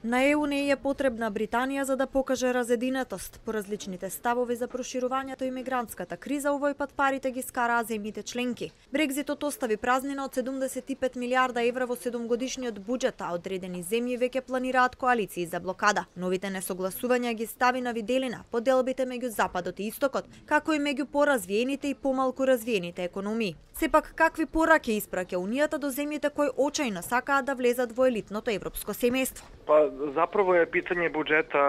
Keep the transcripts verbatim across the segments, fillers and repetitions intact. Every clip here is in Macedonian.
На Е У не е потребна Британија за да покаже разединетост. По различните ставови за проширувањето и мигрантската криза, овој пат парите ги скараа земјите членки. Брекзитот остави празнина од седумдесет и пет милиарда евра во седумгодишниот буџет, а одредени земји веќе планираат коалиции за блокада. Новите несогласувања ги стави на виделина поделбите меѓу Западот и Истокот, како и меѓу поразвиените и помалку развиените економии. Сепак, какви пораки испраќа Унијата до земјите кои очајно сакаат да влезат во елитното европско семејство? Па, заправо е питање буџета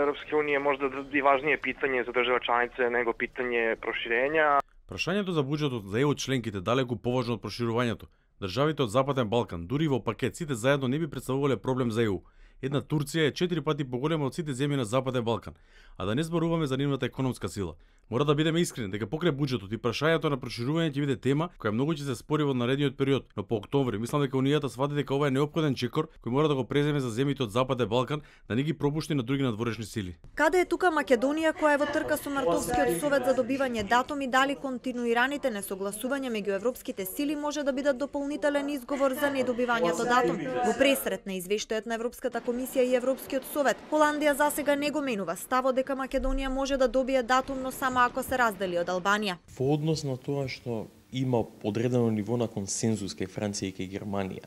Европske unije možda и важнije питање за држава чланице него питање проширења. Прашањето за буџетот за Е У членките далеку поважно од проширувањето. Државите од Западен Балкан, дури во пакет, сите заедно не би представувале проблем за Е У. Една Турција е четири пати поголема од сите земји на Западен Балкан, а да не зборуваме за нивната економска сила. Мора да бидеме искрени дека покрај буџетот и прашањето на проширување ќе биде тема која многу ќе се спори во наредниот период, но по октомври мислам дека Унијата свати дека ова е неопходен чекор кој мора да го преземе за земјите од Западен Балкан, да не ги пропушти на други надворешни сили. Каде е тука Македонија која е во трка со Мартовскиот совет за добивање датум и дали континуираните несогласувања меѓу европските сили може да бидат дополнителен изговор за недобивањето датум? Во пресрет на извештајот на Европската комисија и Европскиот совет, Холандија засега не го менува ставот дека Македонија може да добие датум, но само ако се раздели од Албанија. Во однос на тоа што има одредено ниво на консензус кај Франција и кај Германија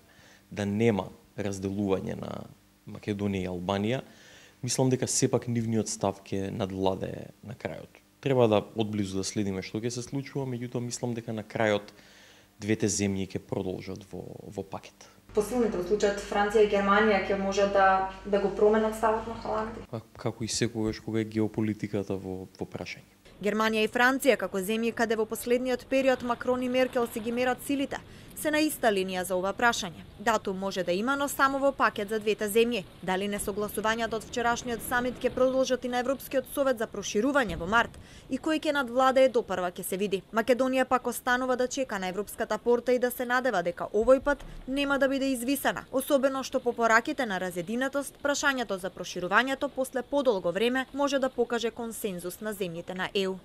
да нема разделување на Македонија и Албанија, мислам дека сепак нивниот став ќе надвладее на крајот. Треба да одблизу да следиме што ќе се случува, меѓутоа мислам дека на крајот двете земји ќе продолжат во во пакет. Посилните во случајот Франција и Германија ќе може да да го променат ставот на Холандија. Како и секогаш кога е геополитиката во во прашање. Германија и Франција, како земји каде во последниот период Макрон и Меркел си ги мерат силите, се на иста линија за ова прашање. Датум може да има, но само во пакет за двете земји. Дали несогласувањата од вчерашниот самит ќе продолжат и на Европскиот совет за проширување во март и кој ќе надвладее допрва ќе се види. Македонија пак останува да чека на европската порта и да се надева дека овој пат нема да биде извисена, особено што по пораките на разединетост, прашањето за проширувањето после подолго време може да покаже консензус на земјите на Е У.